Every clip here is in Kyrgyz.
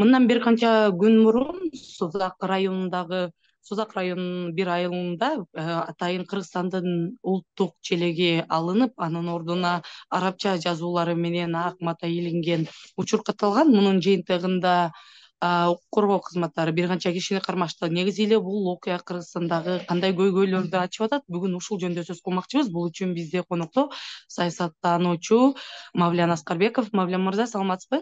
Мындан бир канча күн мурун Созак районунун бир айылында атайын Кыргызстандын улуттук челеги алынып, анын ордуна арабча жазуулары менен ак мата илинген учур катталган. Мунун жыйынтыгында укук коргоо кызматтары бир канча кишини кармашты. Негизи эле бул окуя Кыргызстандагы кандай көйгөйлөрдү ачып атат? Бүгүн ушул жөнүндө сөз кылмакчыбыз. Бул үчүн бизде конокто саясаттануучу Мавлян Аскарбеков. Мавлян мырза, саламатсызбы?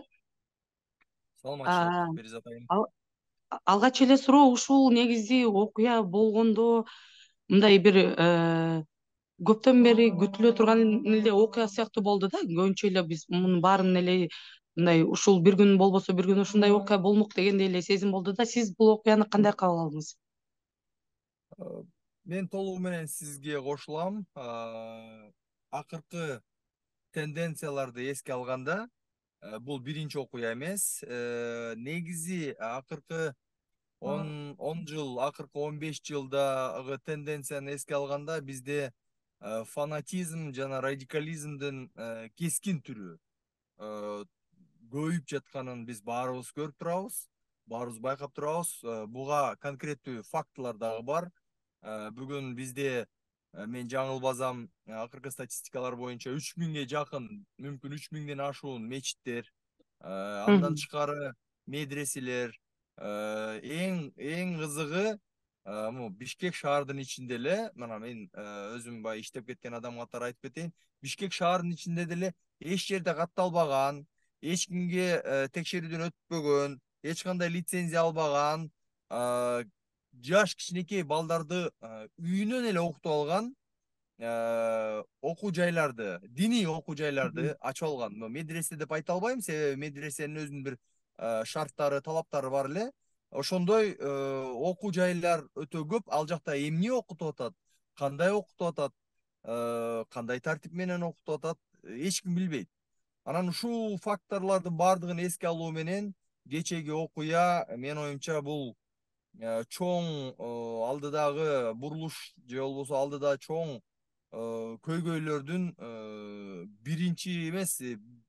Саламатчылык, А, Беризат айым. ал- Алгач эле суроо, ушул негизи окуя болгондо мындай бир көптөн бери күтүлө турган эле окуя сыяктуу болду да. Көбүнчө эле биз мунун баарын эле мындай ушул бир күн болбосо бир күн ушундай окуя болмок дегендей эле сезим болду да. Сиз бул окуяны кандай кабыл алдыңыз? Мен толугу менен сизге кошулам. Акыркы тенденцияларды эске алганда, бул биринчи окуя эмес. Негизи акыркы 10 жыл, акыркы 15 жылдагы тенденцияны эске алганда бизде фанатизм жана радикализмдин кескин түрү көбөйүп жатканын биз баарыбыз көрүп турабыз, баарыбыз байкап турабыз. Буга конкреттүү фактылар дагы бар. Бүгүн бизде мен жаңылбасам, акыркы статистикалар боюнча 3000ге жакын, мүмкүн 3000ден ашуун мечиттер, андан тышкары медреселер, эң кызыгы Бишкек шаардын ичинде эле, мына мен өзүм баягы иштеп кеткен адам катары айтып кетейин, Бишкек шаардын ичинде деле эч жерде катталбаган, эч кимге текшерүүдөн өтпөгөн, эч кандай лицензия албаган, жаш кичинекей балдарды үйүнөн эле окутуп алган окуу жайларды, диний окуу жайларды ачып алган. Медресе деп айта албайм, себеби медресенин өзүнүн бир шарттары, талаптары бар эле. Ошондой окуу жайлар өтө көп. Ал жакта эмне окутуп атат, кандай окутуп атат, кандай тартип менен окутуп атат, эч ким билбейт. Анан ушул факторлордун баардыгын эске алуу менен кечеги окуя, менин оюмча, бул чоң алдыдагы бурулуш же болбосо алдыда чоң көйгөйлөрдүн биринчи эмес,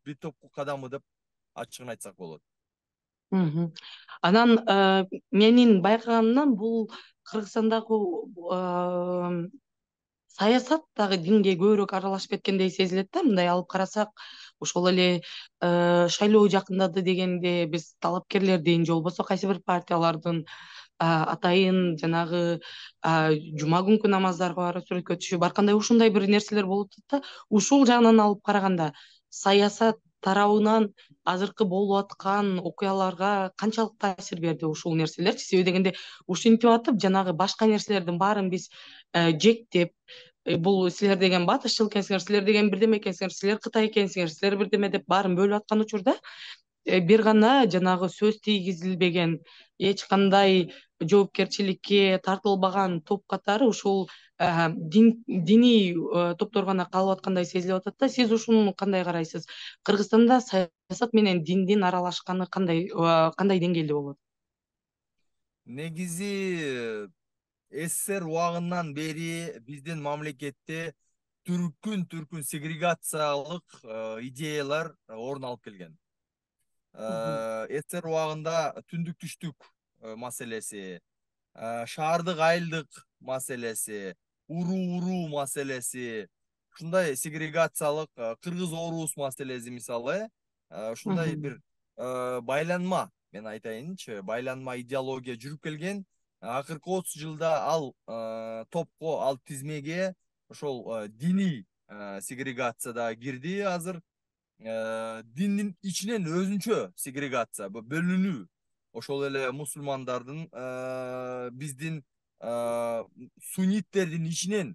бир топку кадамы деп ачыгын айтсак болот. Анан менин байкаганымдан бул Кыргызстандагы саясат дагы динге көбүрөөк аралашып кеткендей сезилет да. Мындай алып карасак, ошол эле шайлоо жакындады дегенде биз талапкерлердин же болбосо кайсы бир партиялардын атайын жанагы жума күнкү намаздарга барып сүрөткө түшүп, ар кандай ушундай бир нерселер болуп атат да. Ушул жагынан алып караганда саясат тарабынан азыркы болуп аткан окуяларга канчалык таасир берди ушул нерселерчи? Себеби дегенде ушинтип атып, жанагы башка нерселердин баарын биз жектеп, бул силер деген батышчыл экенсиңер, силер деген бирдеме экенсиңер, силер Кытай экенсиңер, силер бирдеме деп баарын бөлүп аткан учурда бир гана жанагы сөз тийгизилбеген, эч кандай жоопкерчиликке тартылбаган топ катары ушул диний топтор гана калып аткандай сезилип атат да. Сиз ушуну кандай карайсыз? Кыргызстанда саясат менен диндин аралашканы кандай деңгээлде болот? Негизи СССР убагынан бери биздин мамлекетте түркүн сегрегациялык идеялар орун алып келген. СССР убагында түндүк түштүк маселеси, шаардык айылдык маселеси, уруу маселеси, ушундай сегрегациялык кыргыз орус маселеси мисалы, ушундай бир байланма, мен айтайынчы, байланма идеология жүрүп келген. Акыркы 30 жылда ал топко, ал тизмеге ошол диний сегрегация да кирди азыр. Диндин ичинен өзүнчө сегрегация, бөлүнүү. Ошол эле мусулмандардын, биздин сунниттердин ичинен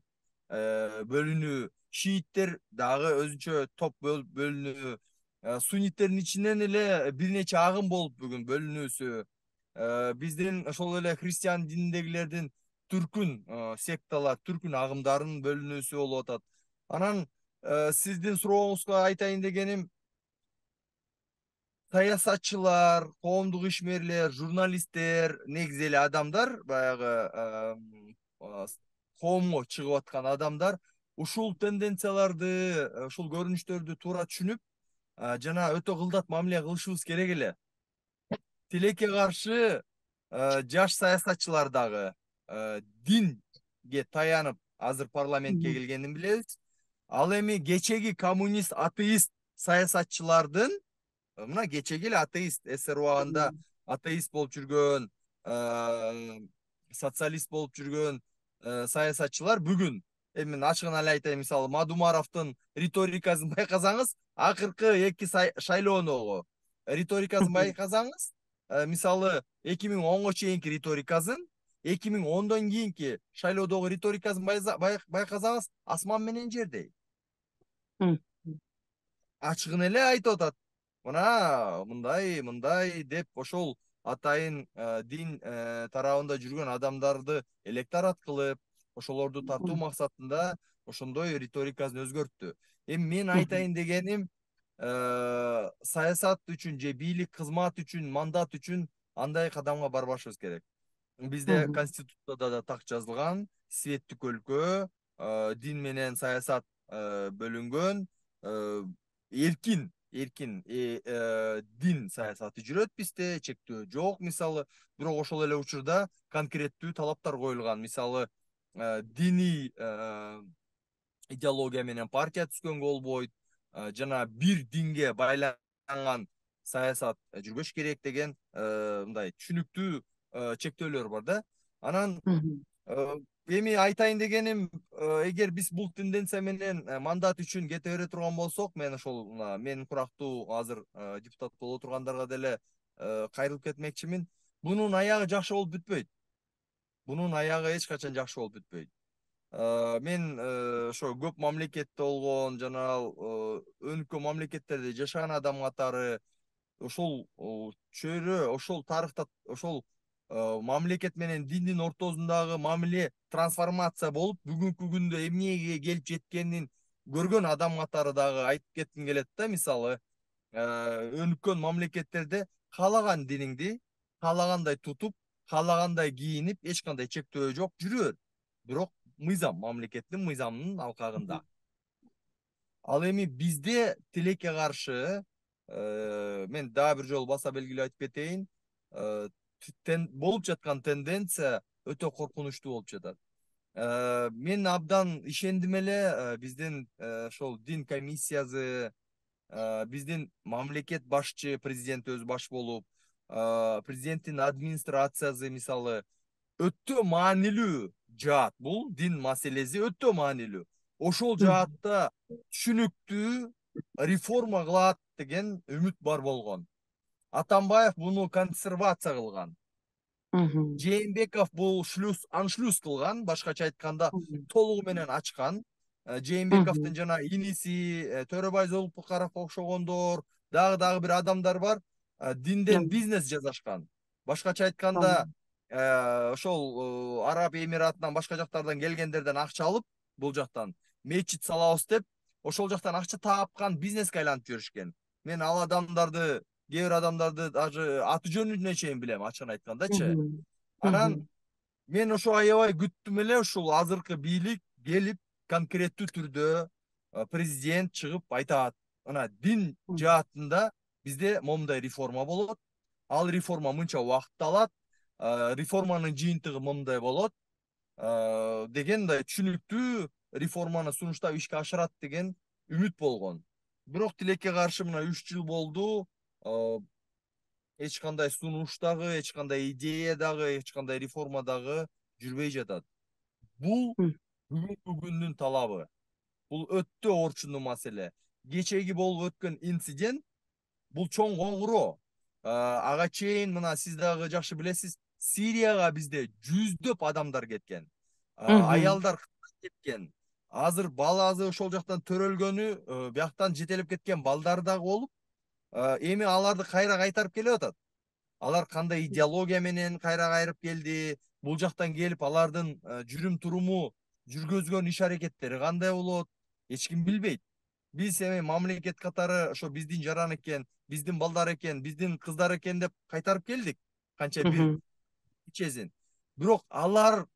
бөлүнүү, шииттер дагы өзүнчө топ бөлүнүү, сунниттердин ичинен эле бир нече агым болуп бүгүн бөлүнүүсү, биздин ошол эле христиан дининдегилердин түркүн секталар, түркүн агымдарынын бөлүнүүсү болуп атат. Анан сиздин сурооңузга айтайын дегеним, саясатчылар, коомдук ишмерлер, журналисттер, негизи эле адамдар, баягы коомго чыгып аткан адамдар ушул тенденцияларды, ушул көрүнүштөрдү туура түшүнүп, жана өтө кылдат мамиле кылышыбыз керек эле. тилекке каршы жаш саясатчылар дагы динге таянып азыр парламентке келгенин билебиз. Ал эми кечеги коммунист атеист саясатчылардын мына кечеги эле атеист СССР убагында атеист болуп жүргөн, социалист болуп жүргөн саясатчылар бүгүн эми мен ачыгын эле айтайын, мисалы Мадумаровдун риторикасын байкасаңыз, акыркы эки шайлоодогу риторикасын байкасаңыз, мисалы 2010 чейинки риторикасын, 2010дон кийинки шайлоодогу риторикасын байкасаңыз, асман менен жердей. Ачыгын эле айтып атат. Мына мындай деп ошол атайын дин тарабында жүргөн адамдарды электорат кылып, ошолорду тартуу максатында ошондой риторикасын өзгөрттү. Эми мен айтайын дегеним, саясат үчүн же бийлик кызмат үчүн, мандат үчүн андай кадамга барбашыбыз керек. Бизде Конституцияда да так жазылган, светтик өлкө, дин менен саясат бөлүнгөн, эркин дин саясаты жүрөт бизде, чектөө жок мисалы. Бирок ошол эле учурда конкреттүү талаптар коюлган. Мисалы, диний идеология менен партия түзгөнгө болбойт, жана бир динге байланган саясат жүрбөш керек деген мындай түшүнүктүү чектөөлөр бар да. Анан эми айтайын дегеним, эгер биз бул тенденция менен мандат үчүн кете бере турган болсок, мен ошол менин курактуу азыр депутат боло тургандарга деле кайрылып кетмекчимин. Бунун аягы жакшы болуп бүтпөйт. Бунун аягы эч качан жакшы болуп бүтпөйт. Мен ошо көп мамлекетте болгон жана өнүккөн мамлекеттерде жашаган адам катары ошол чөйрө, ошол тарыхта ошол мамлекет менен диндин ортосундагы мамиле трансформация болуп, бүгүнкү күндө эмнеге келип жеткенин көргөн адам катары дагы айтып кетким келет да. Мисалы, өнүккөн мамлекеттерде каалаган диниңди каалагандай тутуп, каалагандай кийинип, эч кандай чектөө жок жүрөт. Бирок мыйзам, мамлекеттин мыйзамынын алкагында. Ал эми бизде тилекке каршы, мен дагы бир жолу баса белгилеп айтып кетейин, болуп жаткан тенденция өтө коркунучтуу болуп жатат. Мен абдан ишендим эле, биздин ошол дин комиссиясы, биздин мамлекет башчы, президент өзү баш болуп, президенттин администрациясы мисалы өтө маанилүү жаат. Бул дин маселеси өтө маанилүү. Ошол жаатта түшүнүктүү реформа кылат деген үмүт бар болгон. Атамбаев буну консервация кылган. Жээнбеков бул аншлюз кылган, башкача айтканда толугу менен ачкан. Жээнбековдун жана иниси Төрөбай Золпукаровго окшогондор, дагы бир адамдар бар, динден бизнес жасашкан. Башкача айтканда, ошол Араб Эмиратынан башка жактардан келгендерден акча алып, бул жактан мечит салабыз деп, ошол жактан акча тапкан, бизнеске айланып жүрүшкөн. Мен ал адамдарды, кээ бир адамдарды даже аты жөнүнө чейин билем, ачыгын айткандачы. Анан мен ошо аябай күттүм эле, ушул азыркы бийлик келип конкреттүү түрдө президент чыгып айтат, мына дин жаатында бизде момундай реформа болот, ал реформа мынча убакыт алат, реформанын жыйынтыгы мындай болот деген мындай түшүнүктүү реформаны сунуштап ишке ашырат деген үмүт болгон. Бирок тилекке каршы мына 3 жыл болду, эч кандай сунуш дагы, эч кандай идея дагы, эч кандай реформа дагы жүрбөй жатат. Бул бүгүнкү күндүн талабы. Бул өтө орчундуу маселе. Кечеги болуп өткөн инцидент бул чоң коңгуроо. Ага чейин мына сиз дагы жакшы билесиз, Сирияга бизде жүздөп адамдар кеткен. Аялдар кеткен. Азыр баласы ошол жактан төрөлгөнү, бияктан жетелеп кеткен балдар дагы болуп, эми аларды кайра кайтарып келип атат. Алар кандай идеология менен кайра кайрып келди, бул жактан келип алардын жүрүм туруму, жүргөзгөн иш аракеттери кандай болот, эч ким билбейт. Биз эми мамлекет катары ошо биздин жаран экен, биздин балдар экен, биздин кыздар экен деп кайтарып келдик. Канча бир ичесин. Бирок алар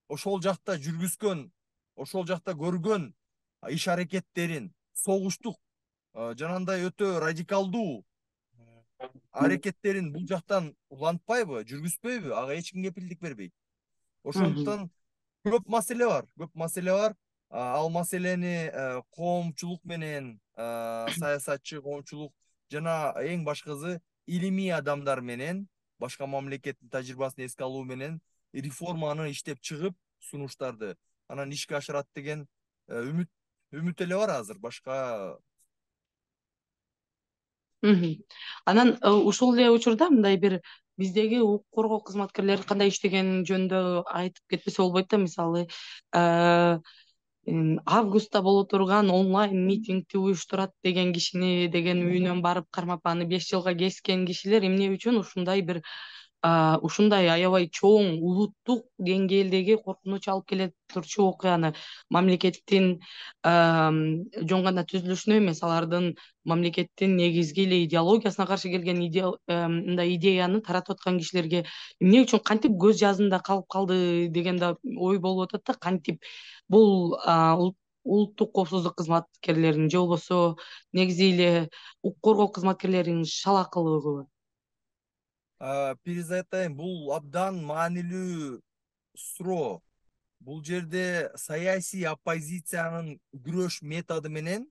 ошол жакта жүргүзгөн, ошол жакта көргөн иш аракеттерин, согуштук, жанагындай өтө радикалдуу аракеттерин бул жактан улантпайбы, жүргүзбөйбү, ага эч ким кепилдик бербейт. Ошондуктан көп маселе бар, көп маселе бар. Ал маселени коомчулук менен, саясатчы коомчулук жана эң башкысы илимий адамдар менен, башка мамлекеттин тажрыйбасын эске алуу менен реформаны иштеп чыгып, сунуштарды анан ишке ашырат деген үмүт эле бар азыр. Башка Анан ушул эле учурда мындай бир биздеги укук коргоо кызматкерлери кандай иштегени жөнүндө айтып кетпесе болбойт да. Мисалы, э, августта боло турган онлайн митингди уюштурат деген кишини, деген үйүнөн барып кармап аны 5 жылга кескен кишилер эмне үчүн ушундай аябай чоң улуттук деңгээлдеги коркунуч алып келе турчу окуяны мамлекеттин жөн гана түзүлүшүнө эмес, алардын мамлекеттин негизги эле идеологиясына каршы келген мындай идеяны таратып аткан кишилерге эмне үчүн кантип көз жазында калып калды деген да ой болуп атат да. Кантип бул улуттук коопсуздук кызматкерлеринин же болбосо негизи эле укук коргоо кызматкерлеринин шалакылыгыбы? Бир айтайын, бул абдан маанилүү суроо. Бул жерде саясий оппозициянын күрөш методу менен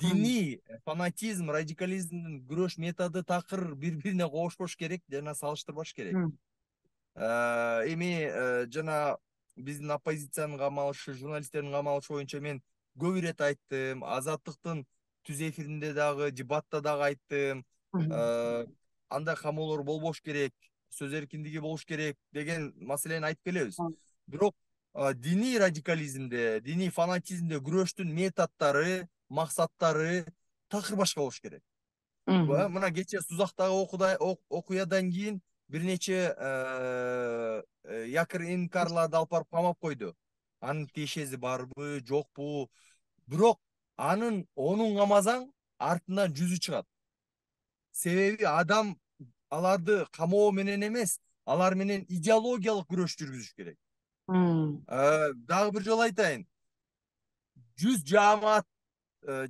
диний фанатизм, радикализмдин күрөш методу такыр бири-бирине кошпош керек жана салыштырбаш керек. Эми жана биздин оппозициянын камалышы, журналисттердин камалышы боюнча мен көп ирет айттым, Азаттыктын түз эфиринде дагы, дебатта дагы айттым. Андай камоолор болбош керек, сөз эркиндиги болуш керек деген маселени айтып келебиз. Бирок диний радикализмде, диний фанатизмде күрөштүн методдору, максаттары такыр башка болуш керек. Мына кечээ Сузактагы окуядан кийин бир нече якыр инкарларды алып барып камап койду. Анын тиешеси барбы, жокпу? Бирок онун камасаң артынан жүзү чыгат. Себеби адам аларды камоо менен эмес, алар менен идеологиялык күрөш жүргүзүш керек. Дагы бир жолу айтайын. 100 жаамат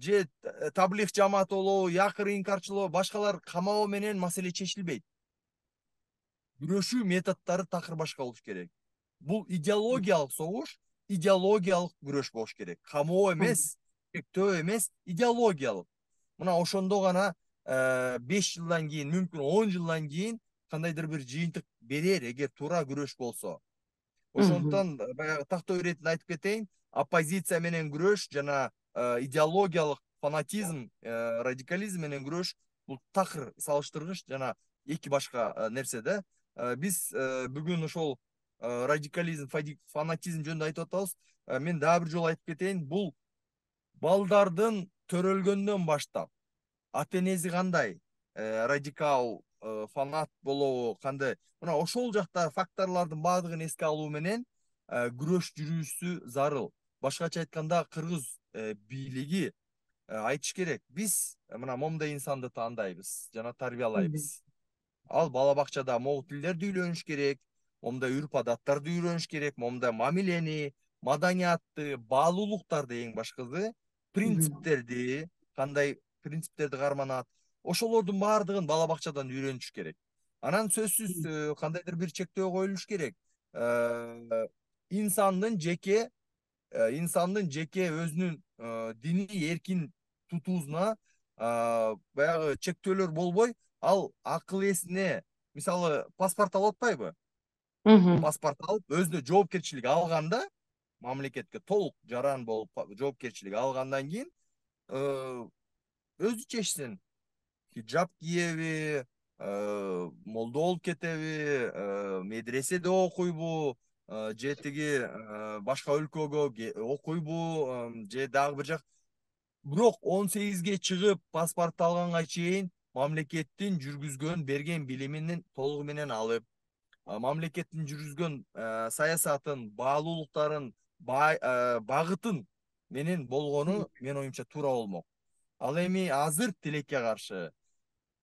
же таблих жааматы болобу, якыр инкарчылоо, башкалар камоо менен маселе чечилбейт. Күрөшүү методдору такыр башка болуш керек. Бул идеологиялык согуш, идеологиялык күрөш болуш керек. Камоо эмес, чектөө эмес, идеологиялык. Мына ошондо гана 5 жылдан кийин, мүмкүн 10 жылдан кийин кандайдыр бир жыйынтык берер, эгер туура күрөш болсо. Ошондуктан баягы тактоо иретинде айтып кетейин, оппозиция менен күрөш жана идеологиялык фанатизм, радикализм менен күрөш бул такыр салыштыргыч жана эки башка нерсе да. Биз бүгүн ошол радикализм, фанатизм жөнүндө айтып атабыз. Мен дагы бир жолу айтып кетейин, бул балдардын төрөлгөндөн баштап ата энеси кандай, радикал, фанат болобу, кандай, мына ошол жакта факторлордун баардыгын эске алуу менен күрөш жүрүүсү зарыл. Башкача айтканда, кыргыз бийлиги айтыш керек, биз мына момундай инсанды таандайбыз жана тарбиялайбыз. Ал бала бакчада могу тилдерди үйлөнүш керек, момундай үрп адаттарды үйрөнүш керек, момундай мамилени, маданиятты, баалуулуктарды, эң башкысы принциптерди, кандай принциптерди карманат, ошолордун баардыгын бала бакчадан үйрөнүш керек. Анан сөзсүз кандайдыр бир чектөө коюлуш керек. Инсандын жеке өзүнүн диний эркин тутуусуна баягы чектөөлөр болбой, ал акыл эсине, мисалы, паспорт алып атпайбы? Паспорт алып, өзүнө жоопкерчилик алганда, мамлекетке толук жаран болуп жоопкерчилик алгандан кийин өзү чечсин. Хиджаб киеби, молдо болуп кетеби, медреседе окуйбу, же тиги башка өлкөгө окуйбу, же дагы бир жак. Бирок 18ге чыгып паспорт алганга чейин мамлекеттин жүргүзгөн берген билиминин толугу менен алып, мамлекеттин жүргүзгөн саясатын, баалуулуктарын, багытын менен болгону менин оюмча туура болмок. Ал эми азыр тилекке каршы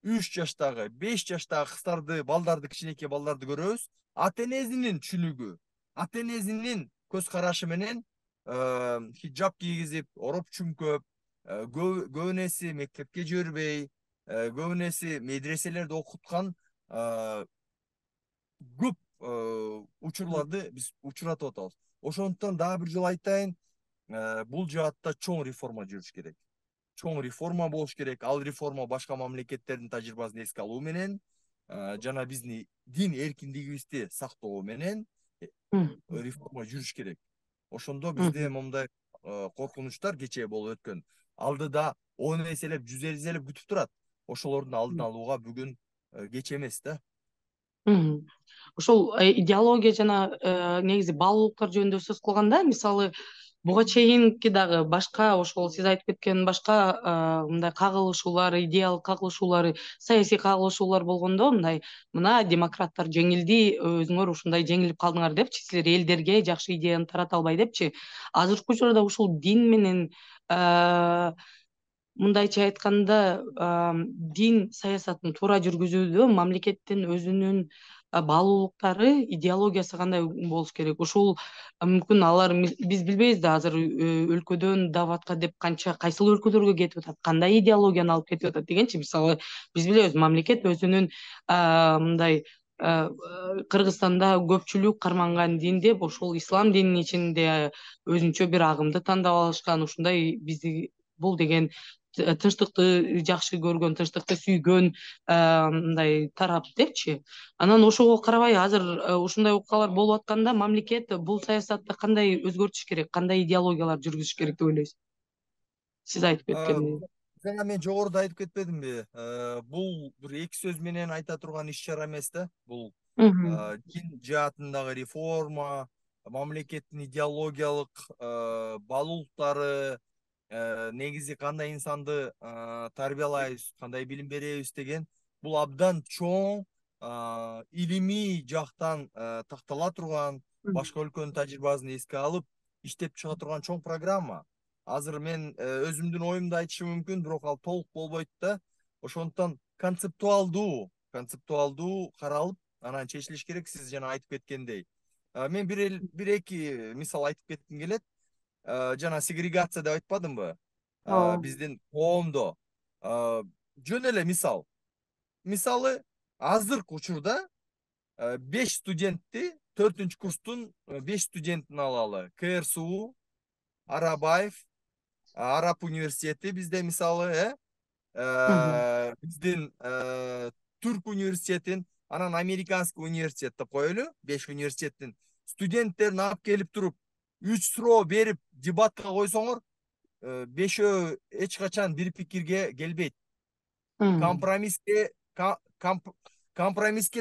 3 жаштагы, 5 жаштагы кыздарды, балдарды, кичинекей балдарды көрөбүз. Ата энесинин түшүнүгү, ата энесинин көз карашы менен хиджаб кийгизип, ороп чүмкөп, көбүнесе мектепке жибербей, көбүнесе медреселерде окуткан көп учурларды биз учуратып атабыз. Ошондуктан дагы бир жолу айтайын, бул жаатта чоң реформа жүрүш керек. Чоң реформа болуш керек. Ал реформа башка мамлекеттердин тажрыйбасын эске алуу менен, жана биздин дин эркиндигибизди сактоо менен реформа жүрүш керек. Ошондо бизде момундай коркунучтар кечээ болуп өткөн. Алдыда 10 эселеп, 100 эселеп күтүп турат. Ошолордун алдын алууга бүгүн кеч эмес да. Ошол идеология жана негизи баалуулуктар жөнүндө сөз кылганда, мисалы буга чейинки дагы башка ошол сиз айтып кеткен башка мындай кагылышуулар, идеялык кагылышуулар, саясий кагылышуулар болгондо мындай мына демократтар жеңилди, өзүңөр ушундай жеңилип калдыңар депчи, силер элдерге жакшы идеяны тарата албай депчи. Азыркы учурда ушул дин менен мындайча айтканда дин саясатын туура жүргүзүүдө мамлекеттин өзүнүн баалуулуктары, идеологиясы кандай болуш керек? Ушул мүмкүн алар биз билбейбиз да азыр өлкөдөн даватка деп кайсыл өлкөлөргө кетип атат, кандай идеологияны алып кетип атат дегенчи. Мисалы биз билебиз, мамлекет өзүнүн мындай Кыргызстанда көпчүлүк карманган дин деп ошол ислам дининин ичинде өзүнчө бир агымды тандап алышкан, ушундай бизди бул деген тынчтыкты жакшы көргөн, тынчтыкты сүйгөн мындай тарап депчи. Анан ошого карабай азыр ушундай окуялар болуп атканда мамлекет бул саясатты кандай өзгөртүш керек, кандай идеологиялар жүргүзүш керек деп ойлойсуз? Сиз айтып кеткендей. Жана мен жогоруда айтып кетпедимби? Бул бир эки сөз менен айта турган иш чара эмес да. Бул дин жаатындагы реформа, мамлекеттин идеологиялык баалуулуктары, негизи кандай инсанды тарбиялайбыз, кандай билим беребиз деген бул абдан чоң илимий жактан тактала турган, башка өлкөнүн тажрыйбасын эске алып иштеп чыга турган чоң программа. Азыр мен өзүмдүн оюмду айтышым мүмкүн, бирок ал толук болбойт да. Ошондуктан концептуалдуу каралып, анан чечилиш керек, сиз жана айтып кеткендей. Мен бир эки мисал айтып кетким келет. Жана сегрегация деп айтпадымбы? Биздин коомдо жөн эле мисал. Мисалы, азыркы учурда 5 студентти, 4 курстун 5 студентин алалы. КРСУ, Арабаев, Араб университети бизде мисалы, биздин Түрк университетин, анан Американский университет деп коелу, 5 университеттин студенттерин алып келип туруп, 3 суроо берип дебатка койсоңор, 5өө эч качан бир пикирге келбейт. Компромисске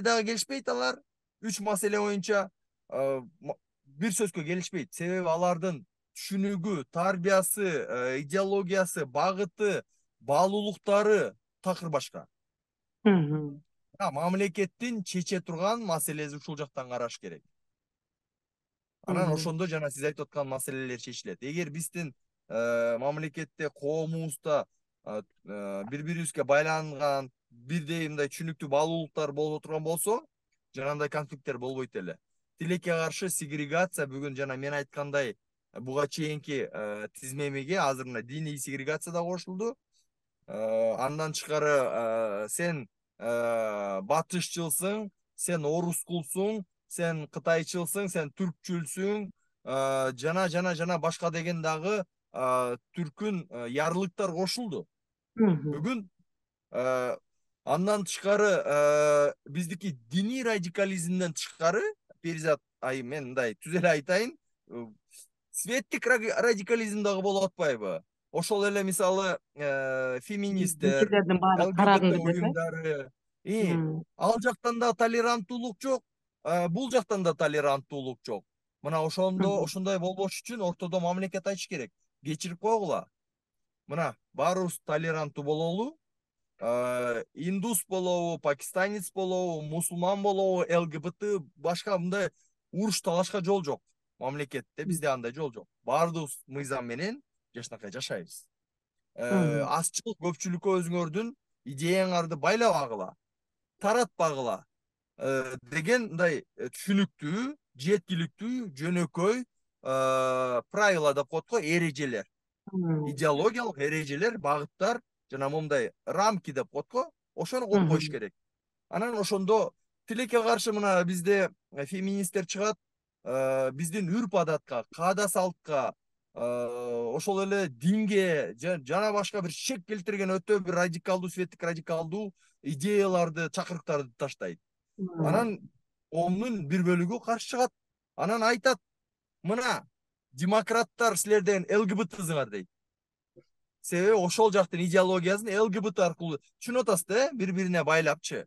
дагы келишпейт алар. 3 маселе боюнча бир сөзгө келишпейт. Себеби алардын түшүнүгү, тарбиясы, идеологиясы, багыты, баалуулуктары такыр башка. Мамлекеттин чече турган маселеси ушул жактан караш керек. Анан ошондо жана сиз айтып аткан маселелер чечилет. Эгер биздин мамлекетте, коомубузда бири-бирибизге байланган, бирдей мындай түшүнүктүү баалуулуктар боло турган болсо, жанагындай конфликттер болбойт эле. Тилекке каршы сегрегация бүгүн жана мен айткандай буга чейинки тизмемеге азыр мына диний сегрегация да кошулду. Андан тышкары сен батышчылсың, сен орускулсуң, сен кытайчылсың, сен түркчүлсүң, жана башка деген дагы түркүн ярлыктар кошулду. Бүгүн андан тышкары биздики диний радикализмден тышкары, Перизат айым, мен мындай түз эле айтайын, светтик радикализм дагы болуп атпайбы? Ошол эле мисалы феминисттер, ЛГБТ уюмдары, ал жактан да толеранттуулук жок, бул жактан да толеранттуулук жок. Мына ошондой болбош үчүн ортодо мамлекет айтыш керек. Кечирип койгула. Мына баарыбыз толеранттуу бололу. Индус болобу, пакистанец болобу, мусулман болобу, ЛГБТ, башка мындай уруш талашка жол жок. Мамлекетте бизде андай жол жок. Баардыгыбыз мыйзам менен жашнакай жашайбыз. Азчылык көпчүлүккө өзүңөрдүн идеяңарды байлабагыла, таратпагыла деген мындай түшүнүктүү, жеткиликтүү, жөнөкөй правила деп коет го, эрежелер. Идеологиялык эрежелер, багыттар жана момундай рамки деп коет го, ошону коюп коюш Мгм. керек. Анан ошондо тилекке каршы мына бизде феминисттер чыгат, биздин үрп адатка, каада салтка, ошол эле динге жана башка бир шек келтирген өтө бир радикалдуу, светтик радикалдуу идеяларды, чакырыктарды таштайт. Анан коомдун бир бөлүгү каршы чыгат. Анан айтат, мына демократтар силерден ЛГБТсыңар дейт. Себеби ошол жактын идеологиясын ЛГБТ аркылуу түшүнүп атасыз да, бири-бирине байлапчы.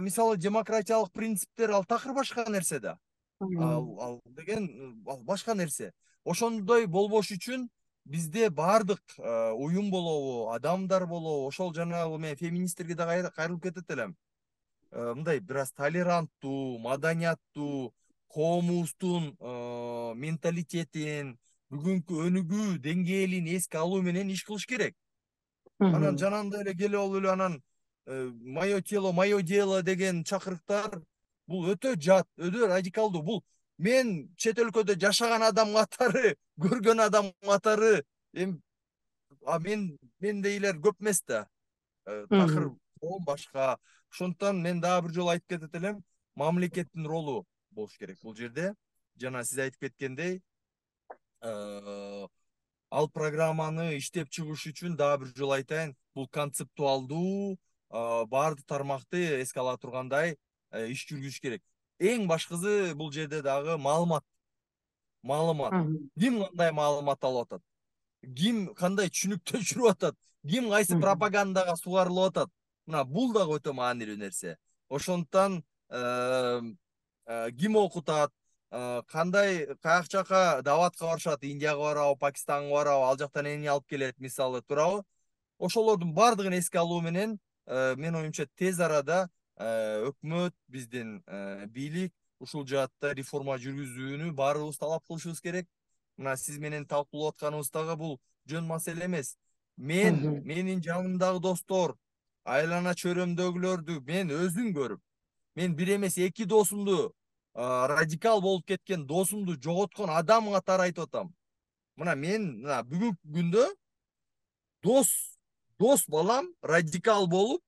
Мисалы демократиялык принциптер ал такыр башка нерсе да. Ал деген ал башка нерсе. Ошондой болбош үчүн бизде баардык уюм болобу, адамдар болобу, ошол жанагы мен феминисттерге да кайрылып кетет элем. Мындай бир аз толеранттуу, маданияттуу, коомубуздун менталитетин, бүгүнкү өнүгүү деңгээлин эске алуу менен иш кылыш керек. Анан Мгм. жанагындай эле келип алып эле анан мое тело, мое дело деген чакырыктар бул өтө жат, өтө радикалдуу. Бул мен чет өлкөдө жашаган адам катары, көргөн адам катары эми мендейлер көп эмес да. Такыр Мгм. коом башка. Ошондуктан мен дагы бир жолу айтып кетет элем, мамлекеттин ролу болуш керек бул жерде. Жана сиз айтып кеткендей, ал программаны иштеп чыгыш үчүн дагы бир жолу айтайын, бул концептуалдуу, баардык тармакты эске ала тургандай иш жүргүзүш керек. Эң башкысы бул жерде дагы маалымат. Маалымат. Мгм. Ким кандай маалымат алып атат? Ким кандай түшүнүктө жүрүп атат? Ким кайсы Мгм. пропагандага сугарылып атат? Мына бул дагы өтө маанилүү нерсе. Ошондуктан ким окутат, кандай каяк жака даватка барышат, Индияга барабы, Пакистанга барабы, ал жактан эмне алып келет, мисалы, туурабы? Ошолордун баардыгын эске алуу менен менин оюмча тез арада өкмөт, биздин бийлик ушул жаатта реформа жүргүзүүнү баарыбыз талап кылышыбыз керек. Мына сиз менен талкуулап атканыбыз дагы бул жөн маселе эмес. Мгм. Менин жанымдагы достор, айлана чөйрөмдөгүлөрдү мен өзүм көрүп, мен бир эмес эки досумду, радикал болуп кеткен досумду жоготкон адам катары айтып атам. Мына мен мына бүгүнкү күндө дос балам радикал болуп,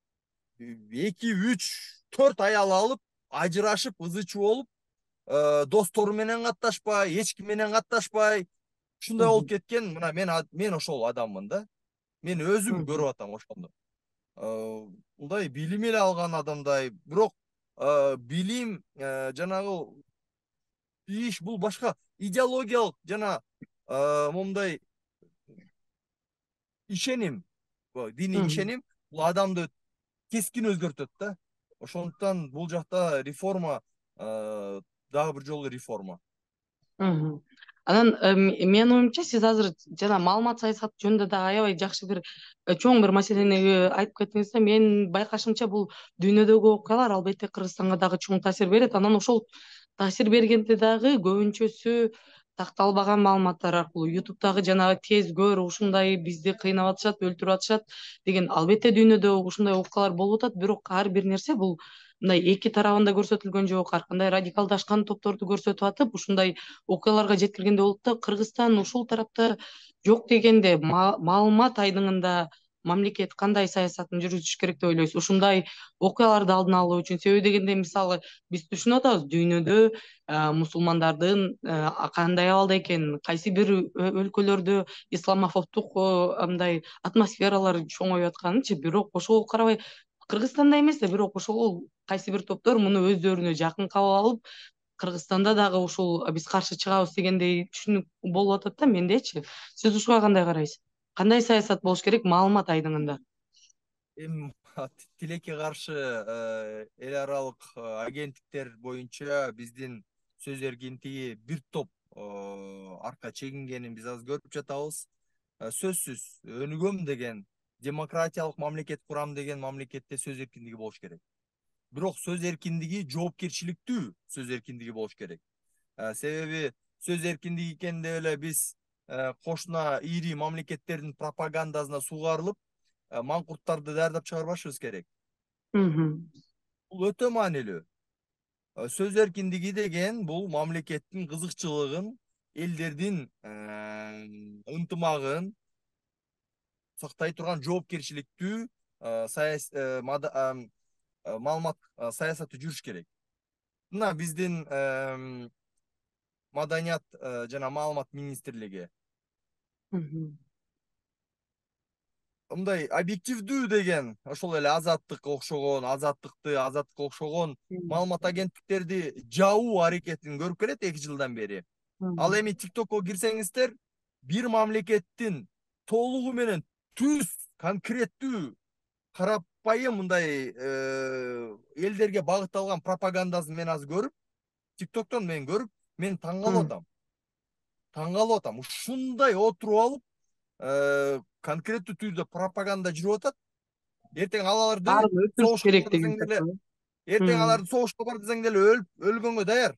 эки, үч, төрт аял алып, ажырашып, ызы чуу болуп, достору менен катташпай, эч ким менен катташпай, ушундай болуп Мгм. кеткен. Мына мен ошол адаммын да. Мен өзүм Мгм. көрүп атам ошондо. Мындай билим эле алган адамдай, бирок билим жанагы иш бул башка идеологиялык жана момундай ишеним, диний Мгм. ишеним бул адамды кескин өзгөртөт да. Ошондуктан бул жакта реформа, дагы бир жолу реформа. Мгм. Анан менин оюмча сиз азыр жана маалымат саясаты жөнүндө да аябай жакшы бир чоң бир маселени айтып кеттиңиз да. Менин байкашымча бул дүйнөдөгү окуялар албетте Кыргызстанга дагы чоң таасир берет. Анан ошол таасир бергенде дагы көбүнчөсү такталбаган маалыматтар аркылуу ютубтагы жанагы тез көр, ушундай бизди кыйнап атышат, өлтүрүп атышат деген албетте дүйнөдө ушундай окуялар болуп атат. Бирок ар бир нерсе бул мындай эки тарабында көрсөтүлгөн жок. Ар кандай радикалдашкан топторду көрсөтүп атып, ушундай окуяларга жеткиргенде болот да. Кыргызстан ушул тарапта жок дегенде маалымат айдыңында мамлекет кандай саясатын жүргүзүш керек деп ойлойсуз ушундай окуяларды алдын алуу үчүн? Себеби дегенде мисалы биз түшүнүп атабыз дүйнөдө мусулмандардын кандай абалда экенин, кайсы бир өлкөлөрдө исламофобдук мындай атмосфералар чоңоюп атканынчы. Бирок ошого карабай Кыргызстанда эмес да, бирок ошол кайсы бир топтор муну өздөрүнө жакын кабыл алып, Кыргызстанда дагы ушул биз каршы чыгабыз дегендей түшүнүк болуп атат да мендечи. Сиз ушуга кандай карайсыз? Кандай саясат болуш керек маалымат айдыңында? Эми тилекке каршы эл аралык агенттиктер боюнча биздин сөз эркиндиги бир топ арка чегингенин биз азыр көрүп жатабыз. Сөзсүз өнүгөм деген, демократиялык мамлекет курам деген мамлекетте сөз эркиндиги болуш керек. Бирок сөз эркиндиги жоопкерчиликтүү сөз эркиндиги болуш керек. Себеби сөз эркиндиги экен деп эле биз кошуна ири мамлекеттердин пропагандасына сугарылып, маңкурттарды даярдап чыгарбашыбыз керек. Мгм. Бул өтө маанилүү. Сөз эркиндиги деген бул мамлекеттин кызыкчылыгын, элдердин ынтымагын, сактай турган жоопкерчиликтүү маалымат саясаты жүрүш керек. Мына биздин маданият жана маалымат министрлиги мындай объективдүү деген ошол эле азаттыкка окшогон маалымат агенттиктерди жабуу аракетин көрүп келет 2 жылдан бери. Ал эми TikTokко кирсеңиздер, бир мамлекеттин толугу менен түз конкреттүү карапайым мындай элдерге багытталган пропагандасын мен азыр көрүп, TikToктон мен көрүп, мен таң калып атам. Ушундай отуруп алып, конкреттүү түрдө пропаганда жүрүп атат. Эртең аларды баарын өчүрүш согушка керек бар деген десең деле, сыяктуу. эртең аларды согушка бар десең деле өлгөнгө даяр.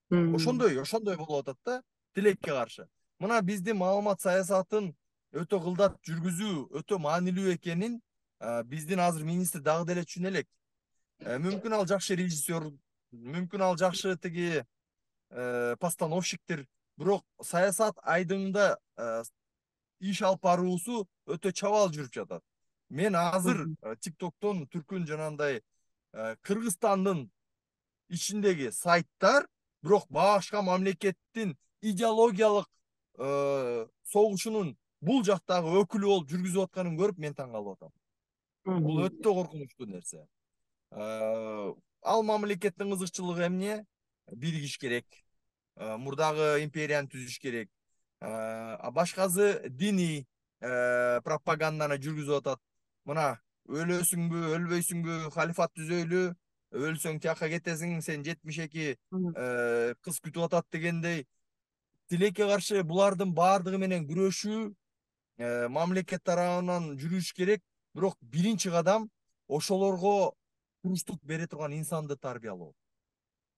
Мм. Ошондой болуп атат да, тилекке каршы. Мына биздин маалымат саясатын өтө кылдат жүргүзүү өтө маанилүү экенин биздин азыр министр дагы деле түшүнө элек. Мүмкүн ал жакшы режиссер, мүмкүн ал жакшы тиги постановщиктир, бирок саясат айдыңында иш алып баруусу өтө чабал жүрүп жатат. Мен азыр TikToктон түркүн жанагындай Кыргызстандын ичиндеги сайттар, бирок башка мамлекеттин идеологиялык согушунун бул жактагы өкүлү болуп жүргүзүп атканын көрүп мен таң калып атам. Бул өтө коркунучтуу нерсе. Ал мамлекеттин кызыкчылыгы эмне? Биригиш керек. Мурдагы империяны түзүш керек. Башкасы диний пропаганданы жүргүзүп атат. Мына өлөсүңбү, өлбөйсүңбү, халифат түзөйлү, өлсөң тияка кетесиң, сен 72 кыз күтүп атат дегендей. Тилекке каршы булардын баардыгы менен күрөшүү мамлекет тарабынан жүрүш керек. Бирок биринчи кадам ошолорго туруштук бере турган инсанды тарбиялоо.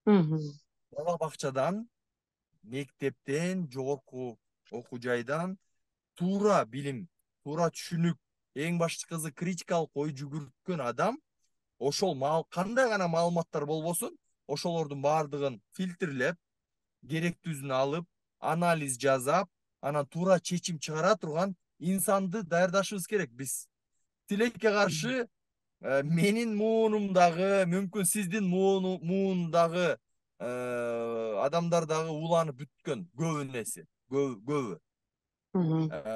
Бала бакчадан, мектептен, жогорку окуу жайдан туура билим, туура түшүнүк, эң башкысы критикалык ой жүгүрткөн адам ошол кандай гана маалыматтар болбосун, ошолордун баардыгын фильтрлеп, керектүүсүн алып, анализ жасап, анан туура чечим чыгара турган инсанды даярдашыбыз керек биз. Тилекке каршы менин муунумдагы, мүмкүн сиздин муундагы адамдар дагы уланып бүткөн көбүнеси, көбү.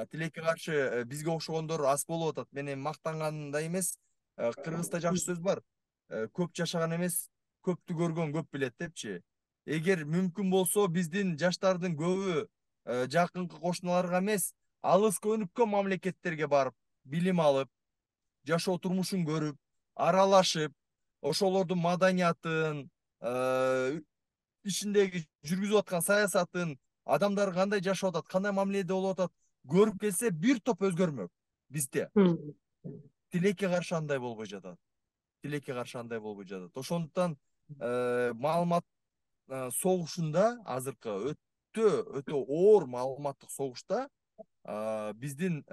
Тилекке каршы бизге окшогондор аз болуп атат. Мен эми мактанганда эмес, кыргызда жакшы сөз бар. Көп жашаган эмес, көптү көргөн көп билет депчи. Эгер мүмкүн болсо биздин жаштардын көбү жакынкы кошуналарга эмес, алыска өнүккөн мамлекеттерге барып, билим алып, жашоо турмушун көрүп, аралашып, ошолордун маданиятын, ичиндеги жүргүзүп аткан саясатын, адамдар кандай жашап атат, кандай мамиледе болуп атат көрүп келсе, бир топ өзгөрмөк бизде. Тилекке каршы андай болбой жатат. Ошондуктан маалымат согушунда азыркы өтө оор маалыматтык согушта биздин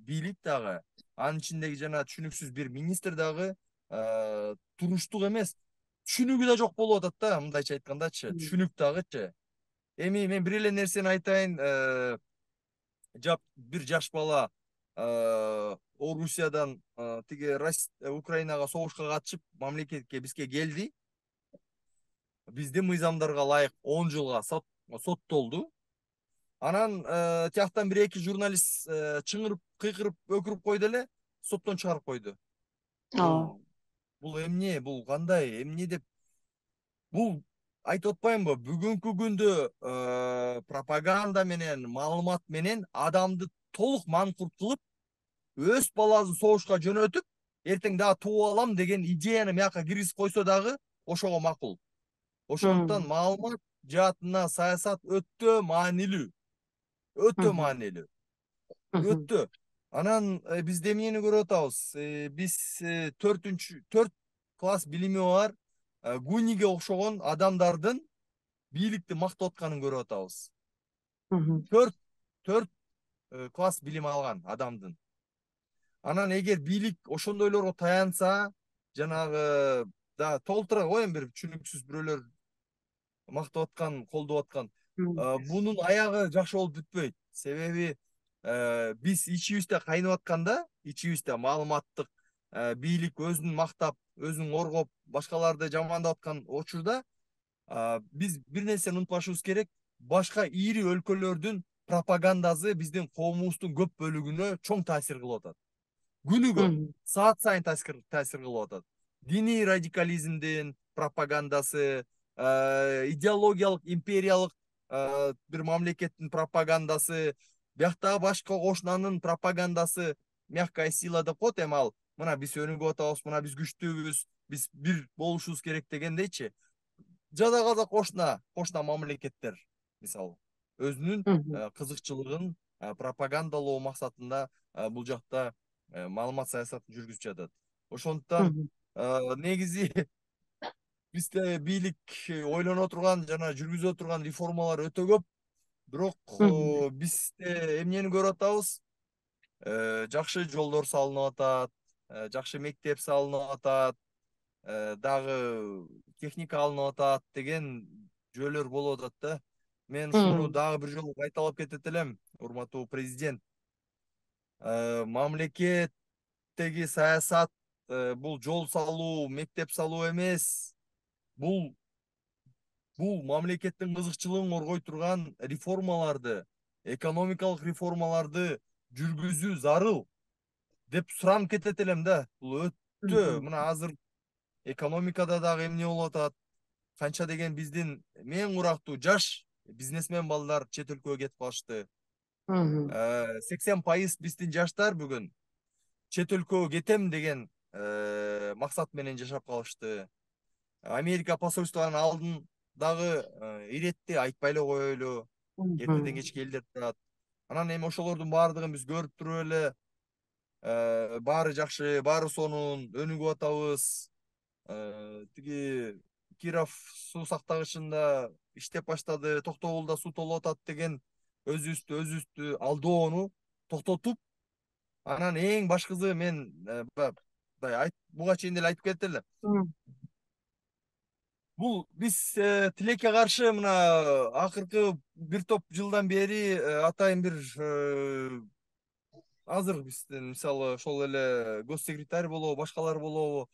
бийлик дагы, анын ичиндеги жана түшүнүксүз бир министр дагы туруштук эмес, түшүнүгү да жок болуп атат да, мындайча айткандачы, түшүнүк дагычы. Эми мен бир эле нерсени айтайын, бир жаш бала Орусиядан тиги Украинага согушка катышып, мамлекетке бизге келди. Биздин мыйзамдарга ылайык 10 жылга соттолду. Анан тияктан бир эки журналист чыңырып, кыйкырып, өкүрүп койду эле, соттон чыгарып койду. Бул эмне, бул кандай, эмне деп. Бул айтып атпаймынбы, бүгүнкү күндө пропаганда менен, маалымат менен адамды толук манкурт кылып, өз баласын согушка жөнөтүп, эртең дагы тууп алам деген идеяны мияка киргизип койсо дагы ошого макул. Ошондуктан маалымат жаатына саясат өтө маанилүү. Өтө. Анан бизде эмнени көрүп атабыз? Биз 4 класс билими бар Гуниге окшогон адамдардын бийликти мактап атканын көрүп атабыз. 4 класс билим алган адамдын. Анан эгер бийлик ошондойлорго таянса, жанагы да толтура коеюн, бир түшүнүксүз бирөөлөр мактап аткан, колдоп аткан. Бунун аягы жакшы болуп бүтпөйт. Себеби биз ичибизде кайнап атканда, ичибизде маалыматтык бийлик өзүн мактап, өзүн коргоп, башкаларды жамандап аткан учурда биз бир нерсени унутпашыбыз керек. Башка ири өлкөлөрдүн пропагандасы биздин коомубуздун көп бөлүгүнө чоң таасир кылып атат. Күнүгө саат сайын таасир кылып атат. Диний радикализмдин пропагандасы, идеологиялык империялык бир мамлекеттин пропагандасы, бияктагы башка кошунанын пропагандасы, мягкая сила деп коет эми ал. Мына биз өнүгүп атабыз, мына биз күчтүүбүз, биз бир болушубуз керек дегендейчи. Жада казак кошуна мамлекеттер мисалы өзүнүн кызыкчылыгын пропагандалоо максатында бул жакта маалымат саясатын жүргүзүп жатат. Ошондуктан негизи бизде бийлик ойлоно турган жана жүргүзө турган реформалар өтө көп. Бирок бизде эмнени көрүп атабыз? Жакшы жолдор салынып атат, жакшы мектеп салынып атат, дагы техника алынып атат деген жөөлөр болуп атат да. Мен ушуну дагы бир жолу кайталап кетет элем, урматтуу президент. Мамлекеттеги саясат бул жол салуу, мектеп салуу эмес. Бул мамлекеттин кызыкчылыгын коргой турган реформаларды, экономикалык реформаларды жүргүзүү зарыл деп суранып кетет элем да. Бул өтө мына азыр экономикада дагы эмне болуп атат? Канча деген биздин эң урактуу жаш бизнесмен балдар чет өлкөгө кетип калышты. 80% биздин жаштар бүгүн чет өлкөгө кетем деген максат менен жашап калышты. Америка посольствонун алдын дагы иретти, айтпай эле коелу. Эртеден кечке элдер турат. Анан эми ошолордун баардыгын биз көрүп туруп эле баары жакшы, баары сонун, өнүгүп атабыз. Тиги Киров суу сактагычында иштеп баштады, Токтогулда суу толуп атат деген өзүбүздү алдоону токтотуп, анан эң башкысы мен буга чейин деле айтып кетет элем. Бул биз тилекке каршы мына акыркы бир топ жылдан бери атайын бир азыр биздин мисалы ошол эле госсекретарь болобу, башкалар болобу,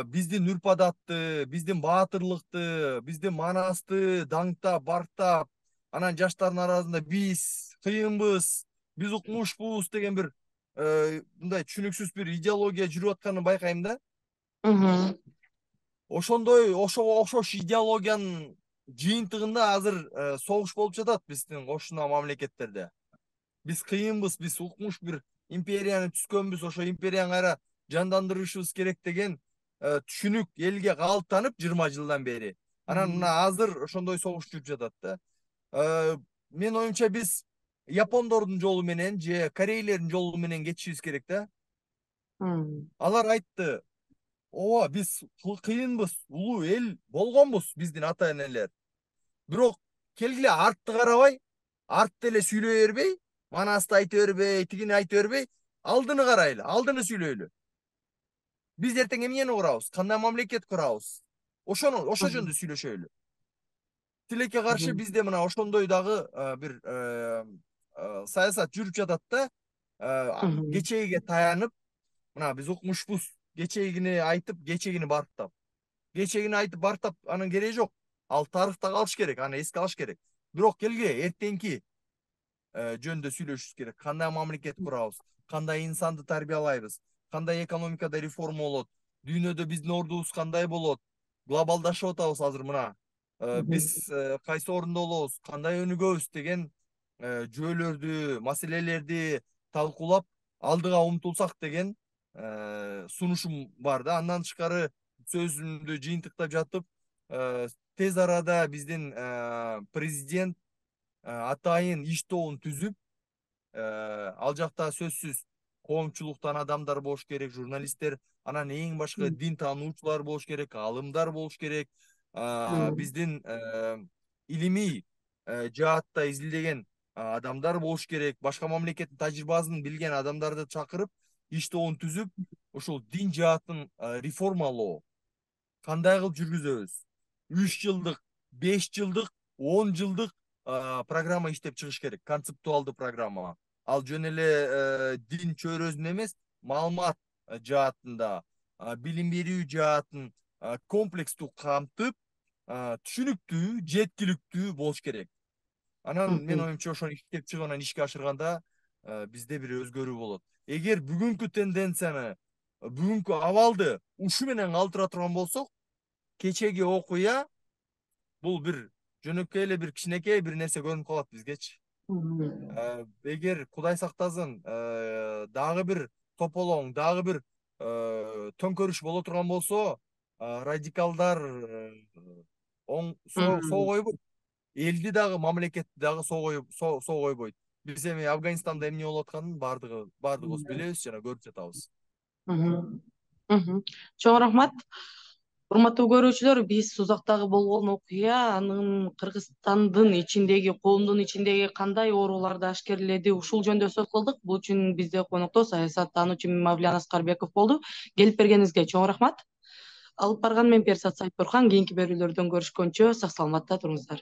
биздин үрп-адатты, биздин баатырлыкты, биздин манасты даңктап, барктап, анан жаштардын арасында биз кыйынбыз, биз укмушпуз деген бир мындай түшүнүксүз бир идеология жүрүп атканын байкайм да. Ошондой окшош идеологиянын жыйынтыгында азыр согуш болуп жатат биздин кошуна мамлекеттерде. Биз кыйынбыз, биз укмуш бир империяны түзкөнбүз, ошо империяны кайра жандандырышыбыз керек деген түшүнүк элге калыптанып 20 жылдан бери. Анан мына азыр ошондой согуш жүрүп жатат да. Менин оюмча биз япондордун жолу менен же корейлердин жолу менен кетишибиз керек да. Алар айтты, ооба биз кыйынбыз, улуу эл болгонбуз биздин ата энелер. Бирок келгиле артты карабай, артты эле сүйлөй бербей, манасты айта бербей, тигини айта бербей, алдыны карайлы, алдыны сүйлөйлү. Биз эртең эмнени курабыз? Кандай мамлекет курабыз? Ошо жөнүндө сүйлөшөлү. Тилекке каршы бизде мына ошондой дагы бир саясат жүрүп жатат да. Кечегиге таянып, мына биз укмушпуз, кечегини айтып, кечегини барктап. Кечегини айтып барктап анын кереги жок. Ал тарыхта калыш керек, аны эске алыш керек. Бирок келгиле эртеңки жөнүндө сүйлөшүбүз керек. Кандай мамлекет курабыз, кандай инсанды тарбиялайбыз, кандай экономикада реформа болот, дүйнөдө биздин ордубуз кандай болот, глобалдашып атабыз азыр мына. Биз кайсы орунда болобуз, кандай өнүгөбүз деген жөөлөрдү, маселелерди талкуулап алдыга умтулсак деген сунушум бар да. Андан тышкары сөзүмдү жыйынтыктап жатып, тез арада биздин президент атайын иш тобун түзүп, ал жакта сөзсүз коомчулуктан адамдар болуш керек, журналисттер, анан эң башкы дин таануучулар болуш керек, аалымдар болуш керек, биздин илимий жаатта изилдеген адамдар болуш керек, башка мамлекеттин тажрыйбасын билген адамдарды чакырып, иш тобун түзүп, ушул дин жаатын реформалоо кандай кылып жүргүзөбүз? 3 жылдык, 5 жылдык, 10 жылдык программа иштеп чыгыш керек, концептуалдуу программа. ал жөн эле дин чөйрөсүндө эмес, маалымат жаатында, билим берүү жаатын комплекстүү камтып, түшүнүктүү, жеткиликтүү болуш керек. Анан мен Мгм. оюмча ошону иштеп чыгып анан ишке ашырганда бизде бир өзгөрүү болот. Эгер бүгүнкү тенденцияны, бүгүнкү абалды ушу менен калтыра турган болсок, кечеги окуя бул бир жөнөкөй эле бир кичинекей бир нерсе көрүнүп калат бизгечи. Мгм. Эгер Кудай сактасын, дагы бир тополоң, дагы бир төңкөрүш боло турган болсо, радикалдар соо Мгм. койбойт. Элди дагы, мамлекетти дагы соо койбойт. Биз эми Афганистанда эмне болуп атканын баардыгыбыз билебиз жана көрүп жатабыз. Мгм. Мгм. Чоң рахмат. Урматтуу көрүүчүлөр, биз Сузактагы болгон окуя анын Кыргызстандын ичиндеги, коомдун ичиндеги кандай ооруларды ашкерледи, ушул жөнүндө сөз кылдык. Бул үчүн бизде конокто саясаттануучу Мавлян Аскарбеков болду. Келип бергениңизге чоң рахмат. Алып барган мен Персат Сайтбурхан. Кийинки берүүлөрдөн көрүшкөнчө сак саламатта туруңуздар.